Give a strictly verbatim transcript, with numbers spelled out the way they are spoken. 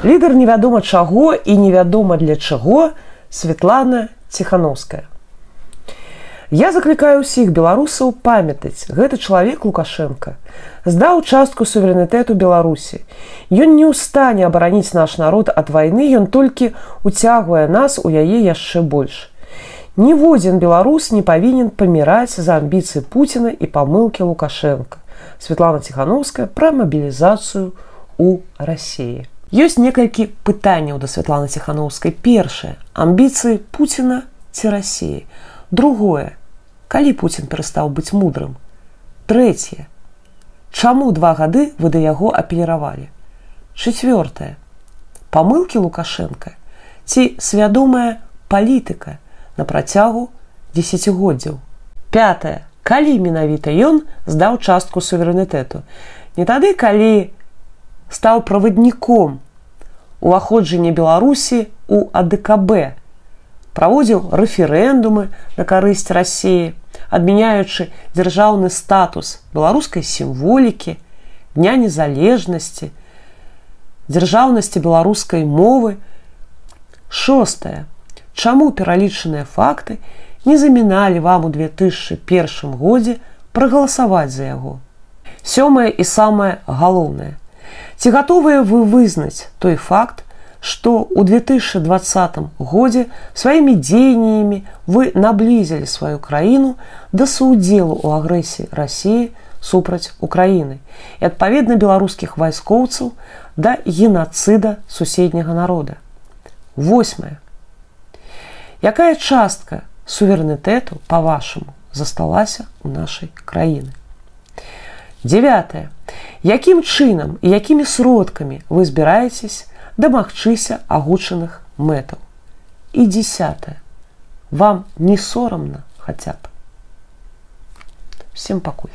Лідар невядома чаго і невядома для чаго Святлана Ціханаўская. Я заклікаю ўсіх беларусаў памятаць, гэты чалавек Лукашенко здаў частку суверэнітэту Беларусі. Ён не ў стане абараніць наш народ ад вайны, ён толькі уцягвае нас у яе яшчэ больш. Ніводзін беларус не павінен паміраць за амбіцыі Пуціна і памылкі Лукашенко. Святлана Ціханаўская пра мабілізацыю ў Расіі. Ёсць некалькі пытанняў да Святланы Ціханаўскай. Першае, амбіцыі Пуціна ці Расіі. Другое, калі Пуцін перастаў быць мудрым. Трэцяе, чаму два гады вы да яго апеліравалі. Чацвёртае, памылкі Лукашенка ці свядомая палітыка на працягу дзесяцігоддзяў. Пятае, калі менавіта ён здаў частку суверэнітэту. Не тады, калі стаў правадніком уваходжання Беларусі ў А Дэ Ка Бэ, праводзіў рэферэндумы на карысць Расіі, адмяняючы дзяржаўны статус беларускай сімволікі, Дня незалежнасці, дзяржаўнасці беларускай мовы. Шостае. Чаму пералічаныя факты не заміналі вам у две тысячы першым годзе прагаласаваць за яго? Сёмае і самае галоўнае. Ці гатовыя вы вызнаць той факт, што ў две тысячы двадцатым годзе сваімі дзеяннямі вы наблізілі сваю краіну да суўдзелу ў агрэсіі Расіі супраць Украіны і, адпаведна, беларускіх вайскоўцаў да генацыда суседняга народа. Восьмае. Якая частка суверэнітэту, па-вашаму, засталася ў нашай краіны? Дзявятае. Якім чынам і якімі сродкамі вы збіраецесь дамагчыся агучаных мэтаў? І дзесятае. Вам не сорамна хаця б? Всем пакуль.